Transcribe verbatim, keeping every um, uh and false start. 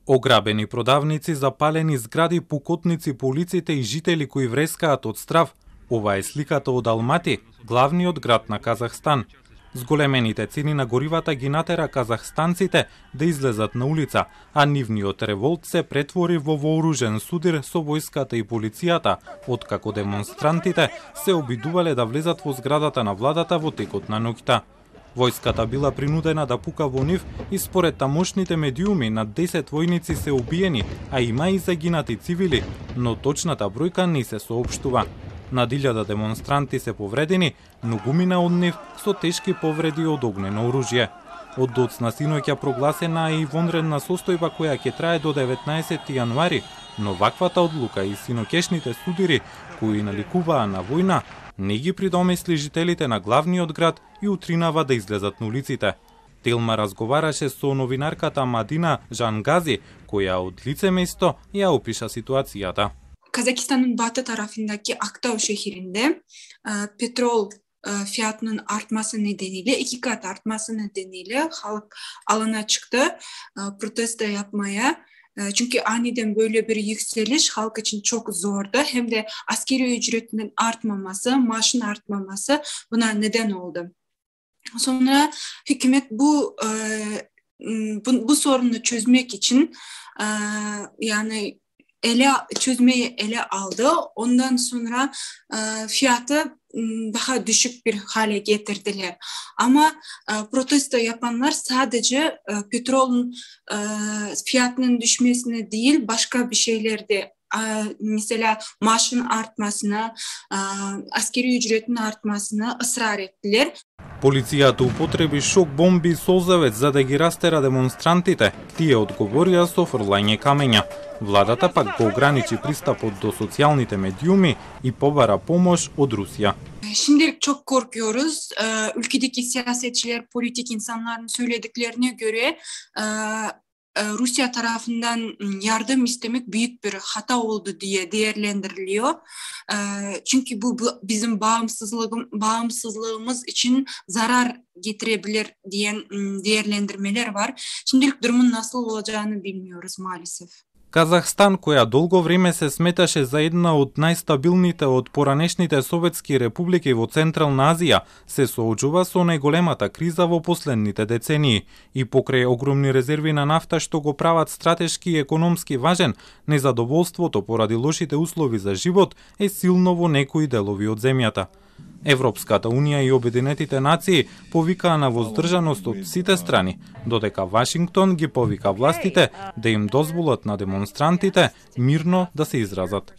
Ограбени продавници, запалени згради, пукотници по улиците и жители кои врескаат од страв. Ова е сликата од Алмати, главниот град на Казахстан. Зголемените цени на горивата ги натера казахстанците да излезат на улица, а нивниот револт се претвори во вооружен судир со војската и полицијата, откако демонстрантите се обидувале да влезат во зградата на владата во текот на ноќта. Војската била принудена да пука во нив и според тамошните медиуми над десет војници се убиени, а има и загинати цивили, но точната бројка не се соопштува. Над илјада демонстранти се повредени, многумина од нив со тешки повреди од огнено оружје. Од доцна синоќа прогласена е и вонредна состојба која ќе трае до деветнаесети јануари, но ваквата одлука и синоќешните судири кои наликуваа на војна не ги придомисли жителите на главниот град и утринава да излезат на улиците. Телма разговараше со новинарката Мадина Жангази, која од лице место ја опиша ситуацијата. Казакстанын батı tarafındaki Aktau şehrinde petrol fiyatının artması nedeniyle iki kat artması nedeniyle halk alana çıktı protesto yapmaya. Çünkü aniden böyle bir yükseliş halk için çok zordu. Hem de askeri ücretinin artmaması, maaşın artmaması buna neden oldu. Sonra hükümet bu bu, bu sorunu çözmek için yani ele çözmeyi ele aldı. Ondan sonra e, fiyatı daha düşük bir hale getirdiler. Ama e, protesto yapanlar sadece e, petrolün e, fiyatının düşmesine değil, başka bir şeylerde e, mesela maaşın artmasına, e, askeri ücretin artmasına ısrar ettiler. Полицијата употреби шок бомби и солзавец за да ги растера демонстрантите. Тие одговорија со фрлање камења. Владата пак го ограничи пристапот до социјалните медиуми и побара помош од Русија. Şimdilik çok korkuyoruz. Ülkedeki siyasetçiler, politik insanların söylediklerine göre Rusya tarafından yardım istemek büyük bir hata oldu diye değerlendiriliyor. Çünkü bu bizim bağımsızlığım, bağımsızlığımız için zarar getirebilir diyen değerlendirmeler var. Şimdilik durumun nasıl olacağını bilmiyoruz maalesef. Казахстан, која долго време се сметаше за една од најстабилните од поранешните советски републики во Централна Азија, се соочува со најголемата криза во последните децении и покрај огромни резерви на нафта што го прават стратешки и економски важен, незадоволството поради лошите услови за живот е силно во некои делови од земјата. Европската унија и Обединетите нации повикаа на воздржаност од сите страни, додека Вашингтон ги повика властите да им дозволат на демонстрантите мирно да се изразат.